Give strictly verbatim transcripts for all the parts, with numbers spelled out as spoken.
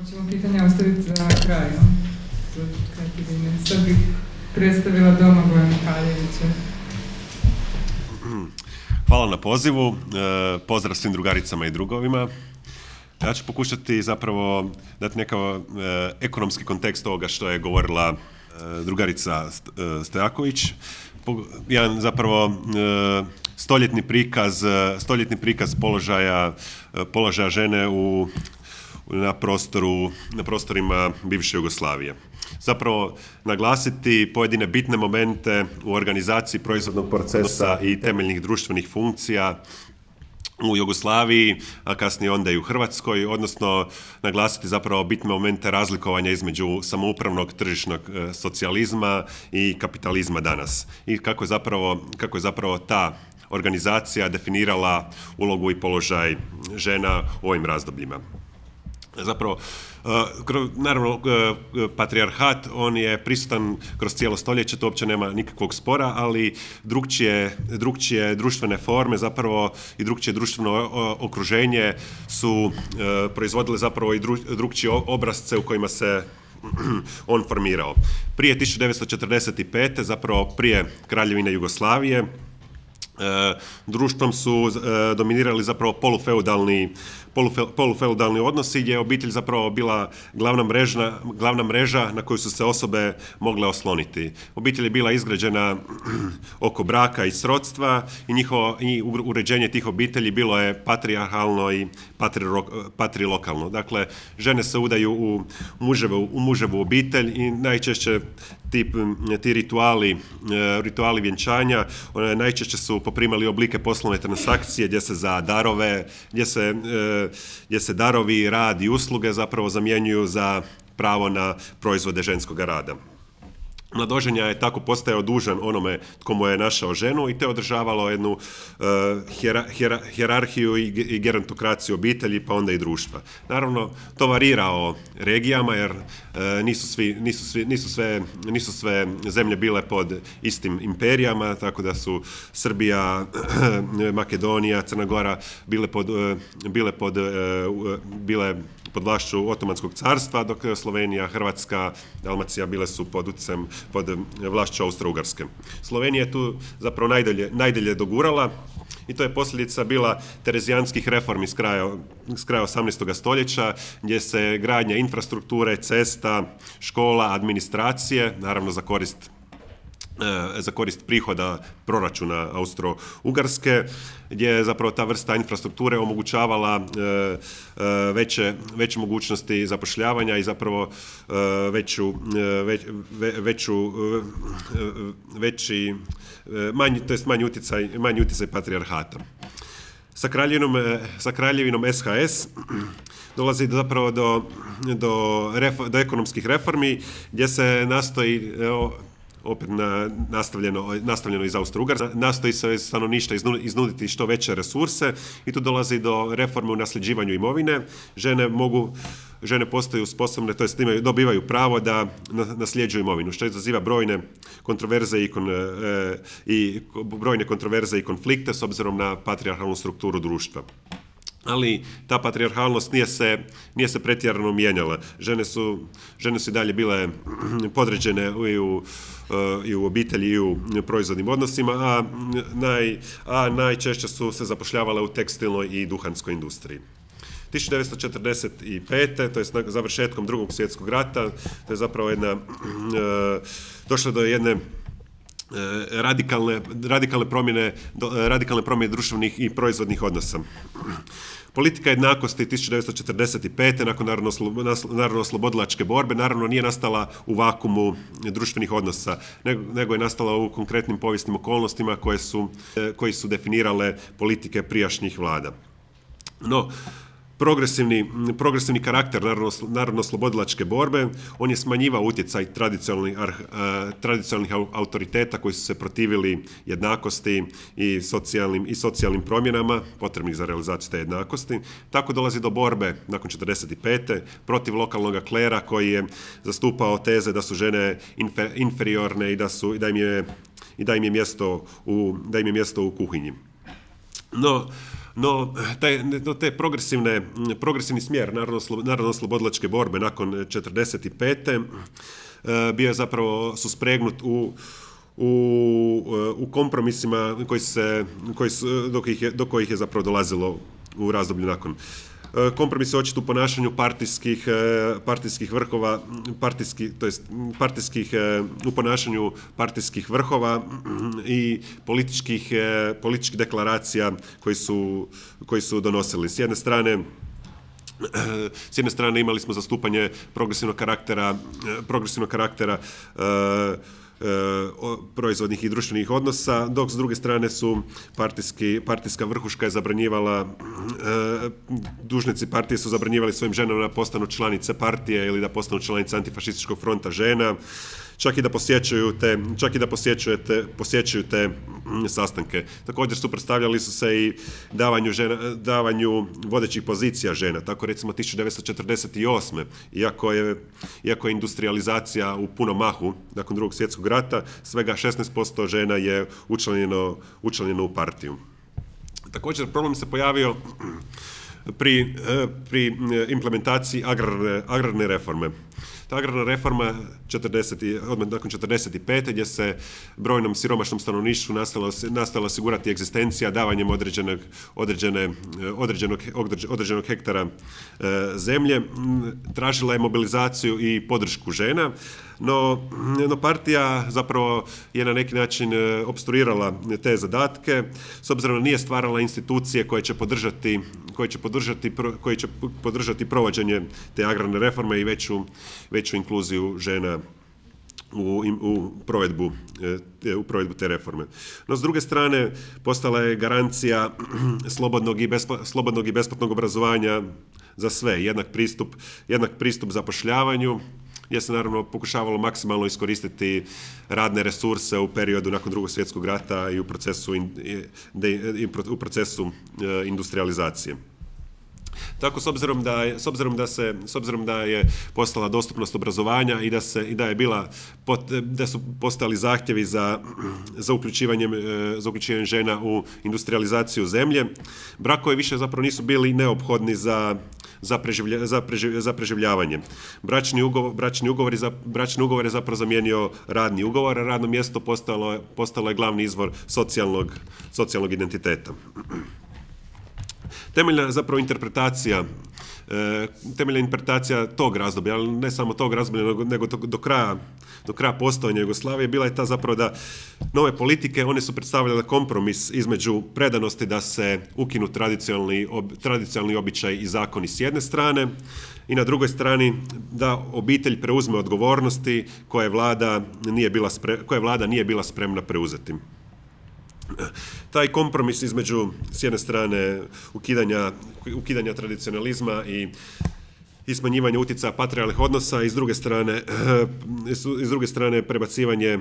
Hoćemo pitanja ostaviti za kraj, no? Za kraj pitanja. Sad bih predstavila Domagoja Mihaljevića. Hvala na pozivu, pozdrav svim drugaricama i drugovima. Ja ću pokušati zapravo dati nekakav ekonomski kontekst ovoga što je govorila drugarica Stojaković. Jedan zapravo stoljetni prikaz, stoljetni prikaz položaja, položaja žene u, na, prostoru, na prostorima bivše Jugoslavije. Zapravo naglasiti pojedine bitne momente u organizaciji proizvodnog procesa i temeljnih društvenih funkcija u Jugoslaviji, a kasnije onda i u Hrvatskoj, odnosno naglasiti zapravo bitne momente razlikovanja između samoupravnog tržišnog socijalizma i kapitalizma danas. I kako je zapravo, kako je zapravo ta organizacija definirala ulogu i položaj žena u ovim razdobljima. Zapravo, naravno, patrijarhat, on je prisutan kroz cijelo stoljeće, to uopće nema nikakvog spora, ali drukčije, drukčije društvene forme zapravo i drukčije društveno okruženje su proizvodile zapravo i drukčije obrazce u kojima se on formirao. Prije tisuću devetsto četrdeset pete, zapravo prije Kraljevine Jugoslavije, društvom su dominirali zapravo polufeudalni polufeudalni odnosi gdje je obitelj zapravo bila glavna mreža, glavna mreža na koju su se osobe mogle osloniti. Obitelj je bila izgrađena oko braka i srodstva i njihovo i uređenje tih obitelji bilo je patrijarhalno i patrilokalno. Dakle, žene se udaju u muževu, u muževu obitelj i najčešće ti, ti rituali, rituali vjenčanja najčešće su poprimali oblike poslovne transakcije gdje se za darove, gdje se gdje se darovi, rad i usluge zapravo zamjenjuju za pravo na proizvode ženskog rada. Mladoženja je tako postajao dužan onome tko mu je našao ženu i te održavalo jednu uh, hjera, hjera, hjerarhiju i, i gerontokraciju obitelji pa onda i društva. Naravno, to varira o regijama jer uh, nisu, svi, nisu, svi, nisu, sve, nisu sve zemlje bile pod istim imperijama, tako da su Srbija, Makedonija, Crna Gora bile pod, uh, bile pod, uh, bile pod vlašću Otomanskog carstva, dok Slovenija, Hrvatska, Dalmacija bile su pod utjecajem pod vlašću Austro-Ugarske. Slovenija je tu zapravo najdalje, najdalje dogurala i to je posljedica bila terezijanskih reformi s kraja, s kraja osamnaestog stoljeća, gdje se gradnja infrastrukture, cesta, škola, administracije, naravno za korist za korist prihoda proračuna Austro-Ugarske, gdje je zapravo ta vrsta infrastrukture omogućavala veće, veće mogućnosti zapošljavanja i zapravo veću, već, veću, veći, manji, to jest manji utjecaj, manji utjecaj patrijarhata. Sa kraljevinom, sa kraljevinom S H S dolazi zapravo do, do, do ekonomskih reformi gdje se nastoji opet na, nastavljeno, nastavljeno iz Austro-Ugarske, nastoji se stanovništva iznuditi što veće resurse i tu dolazi do reforme u nasljeđivanju imovine. Žene mogu, žene postaju sposobne, to jest dobivaju pravo da nasljeđuju imovinu, što izaziva brojne kontroverze i, kon, e, i brojne kontroverze i konflikte s obzirom na patrijarhalnu strukturu društva. Ali ta patrijarhalnost nije se, nije se pretjerano mijenjala. Žene su, žene su i dalje bile podređene i u, i u obitelji i u proizvodnim odnosima, a, naj, a najčešće su se zapošljavale u tekstilnoj i duhanskoj industriji. tisuću devetsto četrdeset pete. to je završetkom Drugog svjetskog rata, to je zapravo jedna, došlo do jedne radikalne, radikalne, promjene, radikalne promjene društvenih i proizvodnih odnosa. Politika jednakosti tisuću devetsto četrdeset pete. nakon narodno-oslobodilačke borbe naravno nije nastala u vakumu društvenih odnosa, nego je nastala u konkretnim povijesnim okolnostima koje su, koji su definirale politike prijašnjih vlada. No, Progresivni, progresivni karakter narodno-oslobodilačke borbe, on je smanjivao utjecaj tradicionalnih, uh, tradicionalnih autoriteta koji su se protivili jednakosti i socijalnim, i socijalnim promjenama potrebnih za realizaciju te jednakosti. Tako dolazi do borbe nakon četrdeset pete protiv lokalnog klera koji je zastupao teze da su žene infer, inferiorne i da, su, i da, im je, i da, im je mjesto u, da im je mjesto u kuhinji. No, No, taj, no, te progresivne, progresivni smjer narodno-oslobodilačke borbe nakon četrdeset pete bio je zapravo suspregnut u U, u kompromisima koji se, koji su, do, kojih je, do kojih je zapravo dolazilo u razdoblju nakon. Kompromis je očit u ponašanju partijskih, partijskih vrhova, partijskih, to jest partijskih, u ponašanju partijskih vrhova i političkih, političkih deklaracija koji su, koji su donosili. S jedne strane, S jedne strane imali smo zastupanje progresivnog karaktera, progresivnog karaktera proizvodnih i društvenih odnosa, dok s druge strane su partijski, partijska vrhuška je zabranjivala, dužnici partije su zabranjivali svojim ženama da postanu članice partije ili da postanu članice antifašističkog fronta žena, čak i da posjećuju te, čak i da posjećujete, posjećuju te sastanke. Također suprotstavljali su se i davanju, žena, davanju vodećih pozicija žena. Tako recimo tisuću devetsto četrdeset osme. Iako je, iako je industrializacija u punom mahu nakon Drugog svjetskog rata, svega šesnaest posto žena je učlanjeno, učlanjeno u partiju. Također problem se pojavio pri, pri implementaciji agrarne, agrarne reforme. Ta agrarna reforma odmah nakon četrdeset pete gdje se brojnom siromašnom stanovništvu nastavila osigurati egzistencija davanjem određenog, određene, određenog, određenog hektara zemlje, tražila je mobilizaciju i podršku žena, no, no partija zapravo je na neki način opstruirala te zadatke, s obzirom da nije stvarala institucije koje će podržati, koje će podržati, koje će podržati provođenje te agrarne reforme i veću, veću inkluziju žena u, u, provedbu, u provedbu te reforme. No, s druge strane, postala je garancija slobodnog i, bespo, slobodnog i besplatnog obrazovanja za sve, jednak pristup, jednak pristup zapošljavanju, gdje se naravno pokušavalo maksimalno iskoristiti radne resurse u periodu nakon Drugog svjetskog rata i u procesu, in, de, i u procesu e, industrializacije. Tako, s obzirom da je, s obzirom da se, s obzirom da je postala dostupnost obrazovanja i da se i da je bila da su postojali zahtjevi za za uključivanjem za uključivanjem žena u industrializaciju zemlje, brakovi više zapravo nisu bili neophodni za za, preživlja, za, preživ, za preživljavanje. Bračni ugovor, bračni ugovor, je za, bračni ugovor je zapravo zamijenio radni ugovor, a radno mjesto postalo, postalo je glavni izvor socijalnog, socijalnog identiteta. Temeljna zapravo interpretacija, e, temeljna interpretacija tog razdoblja, ali ne samo tog razdoblja, nego, nego do, do kraja, do kraja postojanja Jugoslavije, bila je ta zapravo da nove politike, one su predstavljale kompromis između predanosti da se ukinu tradicionalni, ob, tradicionalni običaj i zakoni s jedne strane i na drugoj strani da obitelj preuzme odgovornosti koje vlada nije bila, spre, koje vlada nije bila spremna preuzeti. Taj kompromis između s jedne strane ukidanja, ukidanja tradicionalizma i, i smanjivanja utjecaja patrijarhalnih odnosa i s druge strane, s druge strane prebacivanje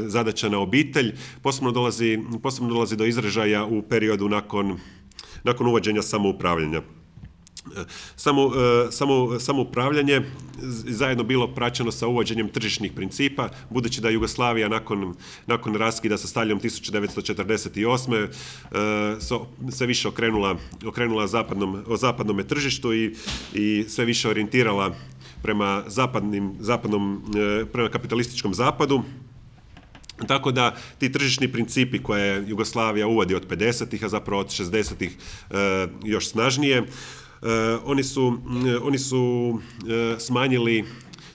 zadaća na obitelj posebno dolazi, posebno dolazi do izražaja u periodu nakon, nakon uvođenja samoupravljanja. Samo, samo, samoupravljanje zajedno bilo praćeno sa uvođenjem tržišnih principa, budući da Jugoslavija nakon, nakon raskida sa Staljinom tisuću devetsto četrdeset osme sve više okrenula, okrenula zapadnom, o zapadnom tržištu i, i sve više orijentirala prema, zapadnim, zapadnom, prema kapitalističkom zapadu. Tako da ti tržišni principi koje Jugoslavija uvodi od pedesetih, a zapravo od šezdesetih još snažnije, Uh, oni su, uh, oni su uh, smanjili,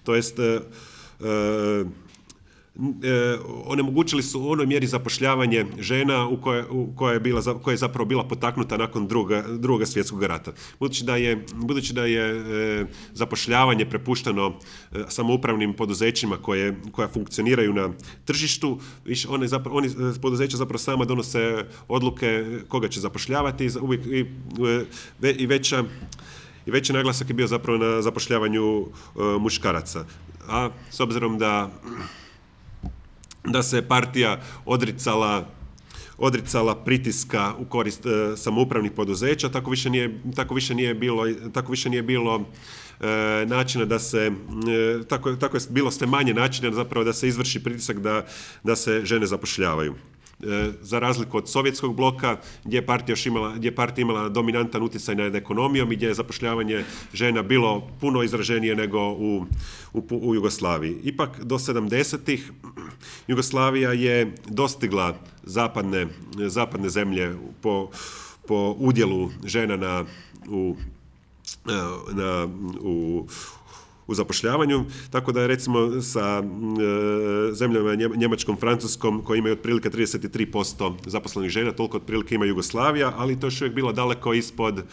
to jest uh, uh, onemogućili su u onoj mjeri zapošljavanje žena u koje, u koje, je, bila, koje je zapravo bila potaknuta nakon druga, druga svjetskog rata. Budući da je, budući da je e, zapošljavanje prepušteno e, samoupravnim poduzećima koje, koja funkcioniraju na tržištu, više one, zapravo, oni poduzeća zapravo sama donose odluke koga će zapošljavati uvijek, i, i, i veća I veći naglasak je bio zapravo na zapošljavanju e, muškaraca. A s obzirom da da se partija odricala, odricala pritiska u korist e, samoupravnih poduzeća, tako više nije, tako više nije bilo, tako više nije bilo e, načina da se, e, tako, tako je bilo sve manje načina zapravo da se izvrši pritisak da, da se žene zapošljavaju. za razliku od sovjetskog bloka, gdje je partija još imala, gdje je partija imala dominantan utjecaj nad ekonomijom i gdje je zapošljavanje žena bilo puno izraženije nego u, u, u Jugoslaviji. Ipak do sedamdesetih Jugoslavija je dostigla zapadne, zapadne zemlje po, po udjelu žena na, u, na, u, u zapošljavanju, tako da je recimo sa e, zemljama Njemačkom, Francuskom, koji imaju otprilike trideset tri posto zaposlenih žena, toliko otprilike ima Jugoslavija, ali to još uvijek bilo daleko ispod,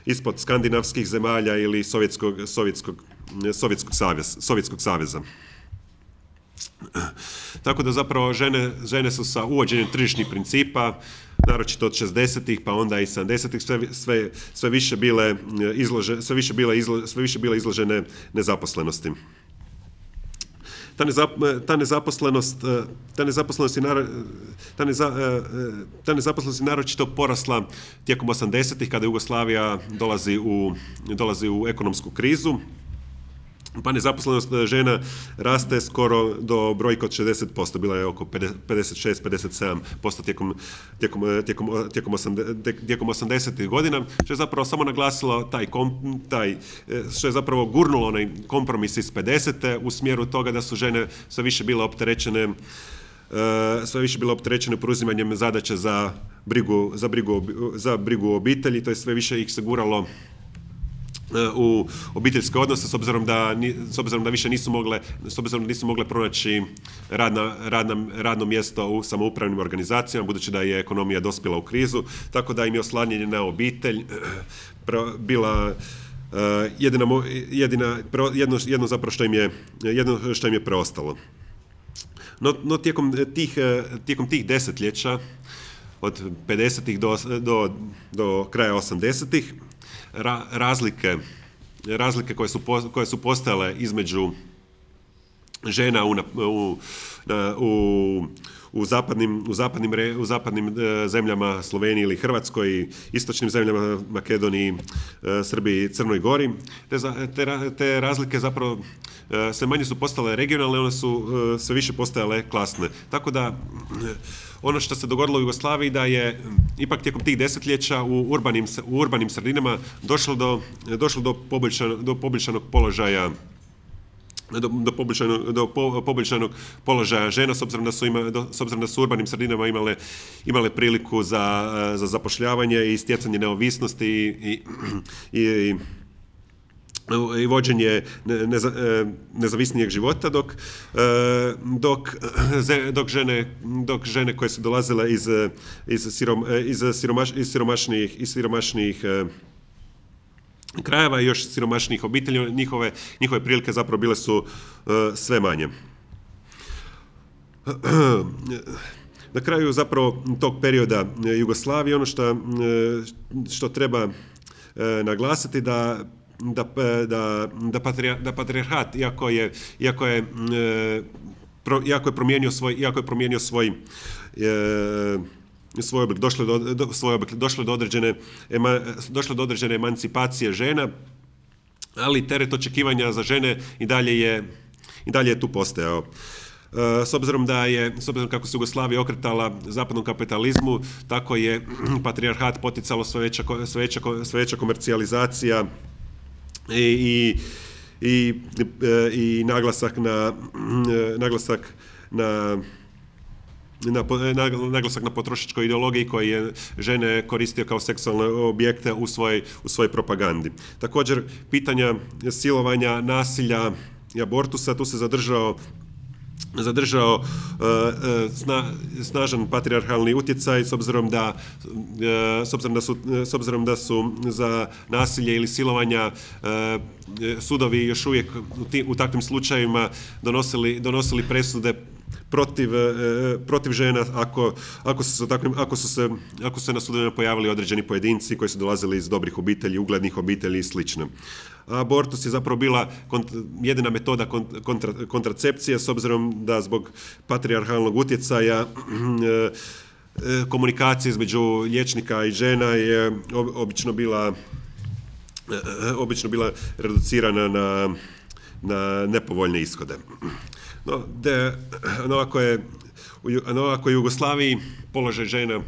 ispod skandinavskih zemalja ili Sovjetskog, Sovjetskog, Sovjetskog, savez, Sovjetskog saveza. Tako da zapravo žene, žene su sa uvođenjem tržišnih principa, naročito od šezdesetih pa onda i sedamdesetih sve, sve, sve više bile izložene, sve više bile izlo, sve više bile izložene nezaposlenosti. Ta, nezap, ta nezaposlenost, ta nezaposlenost je naro, ta, neza, ta nezaposlenost je naročito porasla tijekom osamdesetih kada Jugoslavija dolazi u, dolazi u ekonomsku krizu. Pa nezaposlenost žena raste skoro do brojke od šezdeset posto, bila je oko pedeset šest do pedeset sedam posto tijekom, tijekom, tijekom, tijekom, tijekom osamdesetih godina, što je zapravo samo naglasilo taj, kom, taj, što je zapravo gurnulo onaj kompromis iz pedesete u smjeru toga da su žene sve više bile opterećene sve više bile opterećene preuzimanjem zadaće za brigu, za brigu, za brigu o obitelji, to je sve više ih se guralo u obiteljske odnose s obzirom da, s obzirom da više nisu mogle, s obzirom da nisu mogle pronaći radna, radna, radno mjesto u samoupravnim organizacijama, budući da je ekonomija dospjela u krizu, tako da im je oslanjanje na obitelj bila jedina, jedina, jedno, jedno zapravo što im je, jedno što im je preostalo. No, no tijekom, tih, tijekom tih desetljeća, od pedesetih do, do, do kraja osamdesetih, Ra, razlike, razlike koje su, po, koje su postojale između žena u, u, u, u zapadnim, u zapadnim, re, u zapadnim e, zemljama Sloveniji ili Hrvatskoj i istočnim zemljama Makedoniji, e, Srbiji i Crnoj Gori. Te, te, te razlike zapravo e, sve manje su postale regionalne, one su e, sve više postajale klasne. Tako da e, ono što se dogodilo u Jugoslaviji da je ipak tijekom tih desetljeća u urbanim, u urbanim sredinama došlo do, došlo do poboljšanog, do poboljšanog položaja do, do, poboljšanog, do po, poboljšanog položaja žena, s obzirom da su, ima, do, s obzirom da su u urbanim sredinama imale, imale priliku za, za zapošljavanje i stjecanje neovisnosti i, i, i i vođenje neza, nezavisnijeg života, dok, dok, dok, žene, dok žene koje su dolazile iz, iz, sirom, iz, siromaš, iz siromašnijih, iz siromašnijih krajeva i još siromašnijih obitelji, njihove, njihove prilike zapravo bile su sve manje. Na kraju zapravo tog perioda Jugoslavije ono što, što treba naglasiti da Da, da, da, patrijar, da patrijarhat, iako je, iako je, e, pro, iako je promijenio svoj, iako je promijenio svoj, e, svoj oblik, došlo do, do, svoj oblik, došlo do određene, ema, došlo do određene emancipacije žena, ali teret očekivanja za žene i dalje je, i dalje je tu postojao. S obzirom da je, s obzirom kako se Jugoslavija okretala zapadnom kapitalizmu, tako je patrijarhat poticalo sve veća, sve veća, sve veća komercijalizacija i, i, i, i naglasak na, naglasak na Na, naglasak na potrošačkoj ideologiji koji je žene koristio kao seksualne objekte u svojoj, u svojoj propagandi. Također, pitanja silovanja, nasilja i abortusa, tu se zadržao zadržao uh, sna, snažan patrijarhalni utjecaj s obzirom da uh, s obzirom da su s obzirom da su za nasilje ili silovanja uh, sudovi još uvijek u, ti, u takvim slučajevima donosili donosili presude protiv, protiv žena ako, ako, su se takvim, ako, su se, ako su se na sudovima pojavili određeni pojedinci koji su dolazili iz dobrih obitelji, uglednih obitelji i slično. Abortus je zapravo bila kont, jedina metoda kontra, kontracepcije s obzirom da zbog patrijarhalnog utjecaja komunikacija između liječnika i žena je obično bila, obično bila reducirana na, na nepovoljne ishode. No, de, no ako je no, ako je u Jugoslaviji položaj žena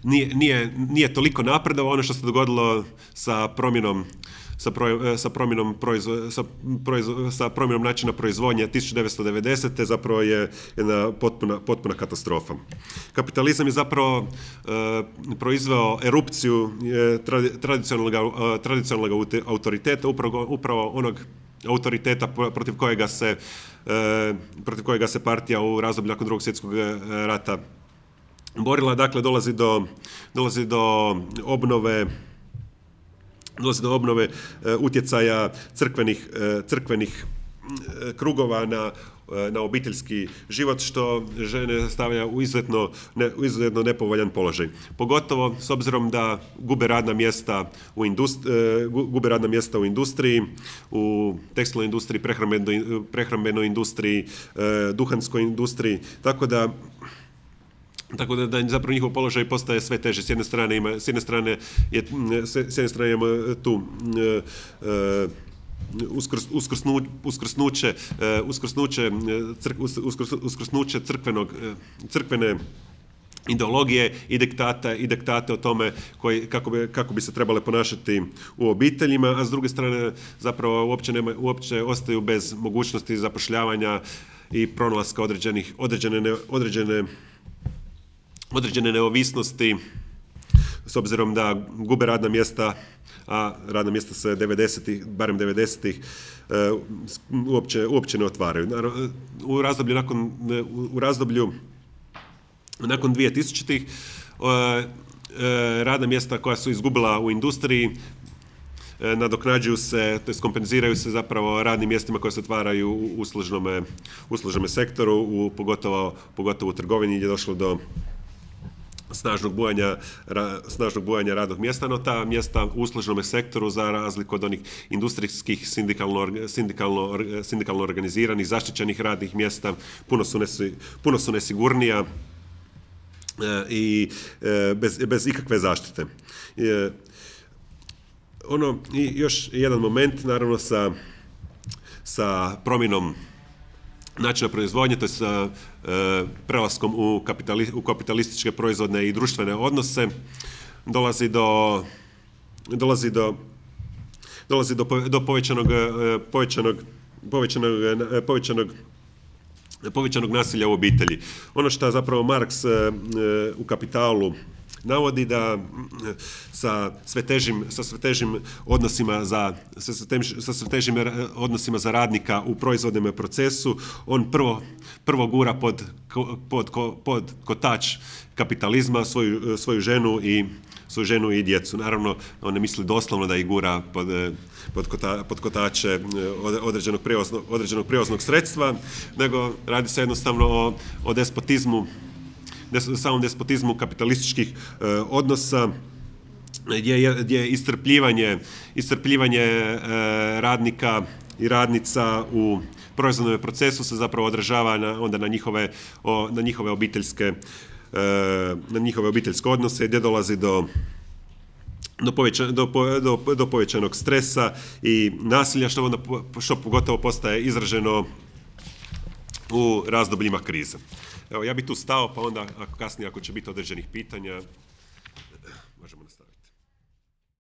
nije, nije, nije toliko napredovao, ono što se dogodilo sa promjenom sa, pro, sa, promjenom proizvo, sa, proizvo, sa promjenom načina proizvodnje tisuću devetsto devedesete. zapravo je jedna potpuna, potpuna katastrofa. Kapitalizam je zapravo e, proizveo erupciju e, tradicionalnog, e, tradicionalnog autoriteta, upravo, upravo onog autoriteta protiv kojega se, e, protiv kojega se partija u razdoblju nakon Drugog svjetskog rata borila. Dakle, dolazi do, dolazi do obnove dolazi do obnove e, utjecaja crkvenih, e, crkvenih e, krugova na, e, na obiteljski život, što žene stavlja u izuzetno, ne, u izuzetno nepovoljan položaj. Pogotovo s obzirom da gube radna mjesta u, indust, e, gube radna mjesta u industriji, u tekstilnoj industriji, prehrambenoj, prehrambenoj industriji, e, duhanskoj industriji, tako da Tako da, da zapravo njihov položaj postaje sve teže. S jedne strane ima, s jedne strane je, s jedne strane imamo tu uh, uskrs, uskrsnu, uskrsnuće, uh, uskrsnuće, crk, uskrs, uskrsnuće crkvenog, crkvene ideologije i diktata i diktate o tome koji, kako, bi, kako bi se trebale ponašati u obiteljima, a s druge strane zapravo uopće, nema, uopće ostaju bez mogućnosti zapošljavanja i pronalaska određenih, određene, ne, određene određene neovisnosti, s obzirom da gube radna mjesta, a radna mjesta se devedesetih, barem devedesetih, uopće, uopće ne otvaraju. U razdoblju nakon, u razdoblju nakon dvije tisućitih radna mjesta koja su izgubila u industriji nadoknađuju se, to jest kompenziraju se zapravo radnim mjestima koje se otvaraju u uslužnome, uslužnome sektoru, u, pogotovo, pogotovo u trgovini gdje je došlo do snažnog bujanja, ra, snažnog bujanja radnog mjesta, no ta mjesta u uslužnom sektoru, za razliku od onih industrijskih sindikalno, sindikalno, sindikalno organiziranih, zaštićenih radnih mjesta, puno su, nesi, puno su nesigurnija e, i e, bez, bez ikakve zaštite. E, ono, i još jedan moment, naravno, sa, sa promjenom načina proizvodnje, to je sa e, prelaskom u, kapitali, u kapitalističke proizvodne i društvene odnose, dolazi do dolazi do dolazi do, do povećanog, povećanog, povećanog, povećanog povećanog nasilja u obitelji. Ono što zapravo Marks e, u Kapitalu navodi, da sa sve težim, sa sve težim odnosima za, sa sve težim, sa sve težim odnosima za radnika u proizvodnom procesu, on prvo, prvo gura pod, pod, pod kotač kapitalizma svoju, svoju ženu i svoju ženu i djecu. Naravno, on ne misli doslovno da ih gura pod, pod, kota, pod kotače određenog prijevoznog, određenog prijevoznog sredstva, nego radi se jednostavno o, o despotizmu, samom despotizmu kapitalističkih e, odnosa, gdje je, gdje je iscrpljivanje, iscrpljivanje e, radnika i radnica u proizvodnom procesu se zapravo odražava na, onda na njihove, o, na njihove obiteljske e, na njihove obiteljske odnose, gdje dolazi do Do, poveća, do, do, do povećanog stresa i nasilja, što onda što pogotovo postaje izraženo u razdobljima krize. Evo, ja bih tu stao, pa onda ako kasnije ako će biti određenih pitanja, možemo nastaviti.